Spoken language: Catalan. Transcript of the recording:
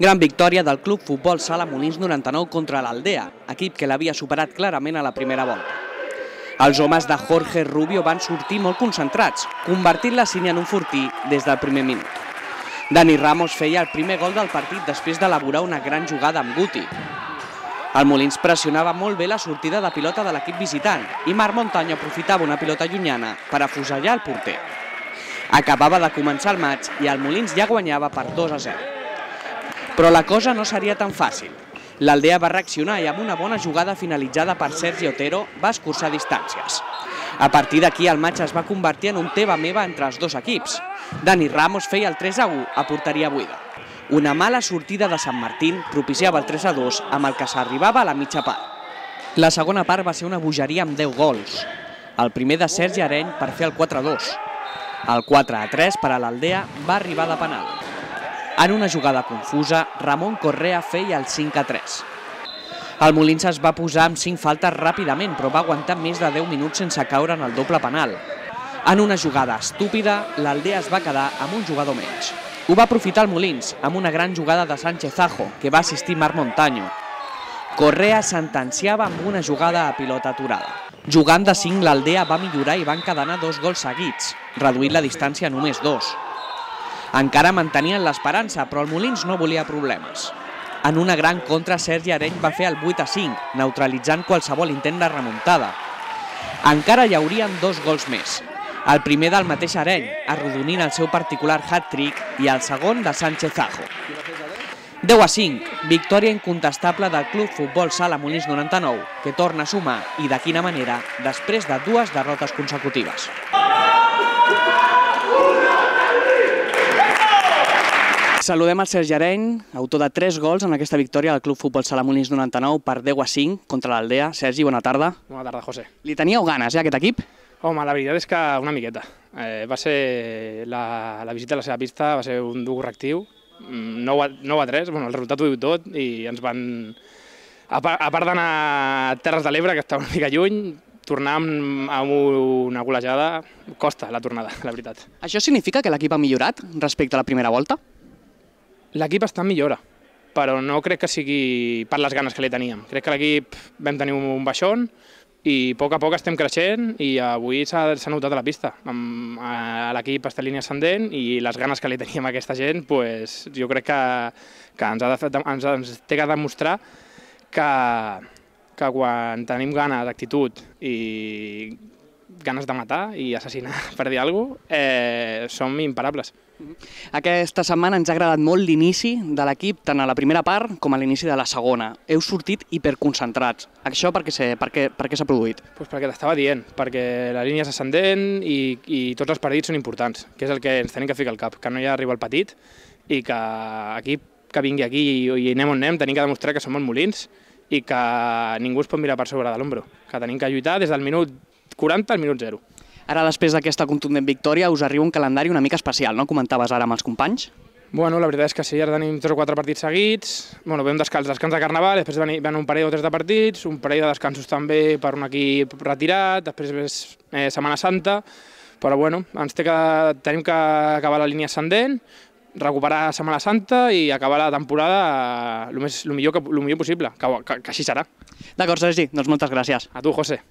Gran victòria del Club Futbol Sala Molins 99 contra l'Aldea, equip que l'havia superat clarament a la primera volta. Els homes de Jorge Rubio van sortir molt concentrats, convertint la sínia en un fortí des del primer minut. Dani Ramos feia el primer gol del partit després d'elaborar una gran jugada amb Guti. El Molins pressionava molt bé la sortida de pilota de l'equip visitant i Marc Montaño aprofitava una pilota llunyana per afusellar el porter. Acabava de començar el maig i el Molins ja guanyava per 2-0. Però la cosa no seria tan fàcil. L'Aldea va reaccionar i amb una bona jugada finalitzada per Sergi Otero va escurçar distàncies. A partir d'aquí el maig es va convertir en un teva-meva entre els dos equips. Dani Ramos feia el 3-1 a porteria buida. Una mala sortida de Sant Martín propiciava el 3-2 amb el que s'arribava a la mitja part. La segona part va ser una bogeria amb 10 gols. El primer de Sergi Areny per fer el 4-2. El 4-3 per a l'Aldea va arribar de penal. En una jugada confusa, Ramon Correa feia el 5-3. El Molins es va posar amb 5 faltes ràpidament, però va aguantar més de 10 minuts sense caure en el doble penal. En una jugada estúpida, l'Aldea es va quedar amb un jugador menys. Ho va aprofitar el Molins, amb una gran jugada de Sánchez Ajo, que va assistir Marc Montaño. Correa sentenciava amb una jugada a pilota aturada. Jugant de 5, l'Aldea va millorar i va encadenar 2 gols seguits, reduint la distància a només 2. Encara mantenien l'esperança, però el Molins no volia problemes. En una gran contra, Sergi Areny va fer el 8-5, neutralitzant qualsevol intent de remuntada. Encara hi haurien 2 gols més. El primer del mateix Areny, arrodonint el seu particular hat-trick, i el segon de Sánchez Ajo. 10-5, victòria incontestable del Club Futbol Sala Molins 99, que torna a sumar, i de quina manera, després de 2 derrotes consecutives. Saludem el Sergi Areny, autor de 3 gols en aquesta victòria del Club Futbol Sala Molins 99 per 10-5 contra l'Aldea. Sergi, bona tarda. Bona tarda, José. Li teníeu ganes, aquest equip? Home, la veritat és que una miqueta. Va ser la visita a la seva pista, va ser un dur correctiu, 9-3, bueno, el resultat ho diu tot, i ens van, a part d'anar a Terres de l'Ebre, que estava una mica lluny, tornar amb una golejada costa la tornada, la veritat. Això significa que l'equip ha millorat respecte a la primera volta? L'equip està en millora, però no crec que sigui per les ganes que li teníem. Crec que l'equip vam tenir un baixón i a poc estem creixent i avui s'ha notat a la pista. L'equip està en línia ascendent i les ganes que li teníem a aquesta gent, jo crec que ens té que demostrar que quan tenim ganes, actitud i ganes de matar i assassinar, per dir alguna cosa, som imparables. Aquesta setmana ens ha agradat molt l'inici de l'equip, tant a la primera part com a l'inici de la segona. Heu sortit hiperconcentrats. Això per què s'ha produït? Perquè t'estava dient, perquè la línia és ascendent i tots els partits són importants, que és el que ens tenim que ficar al cap, que no hi ha rival petit i que equip que vingui aquí i anem on anem tenim que demostrar que som els Molins i que ningú es pot mirar per sobre de l'ombro, que tenim que lluitar des del minut 40 al minut 0. Ara, després d'aquesta contundent victòria, us arriba un calendari una mica especial, no? Comentaves ara amb els companys. Bueno, la veritat és que sí, ara tenim 3 o 4 partits seguits, vam descans de Carnaval, després ven un parell o 3 de partits, un parell de descansos també per un equip retirat, després ve Setmana Santa, però bueno, tenim que acabar la línia ascendent, recuperar Setmana Santa i acabar la temporada el millor possible, que així serà. D'acord, Sergi, doncs moltes gràcies. A tu, José.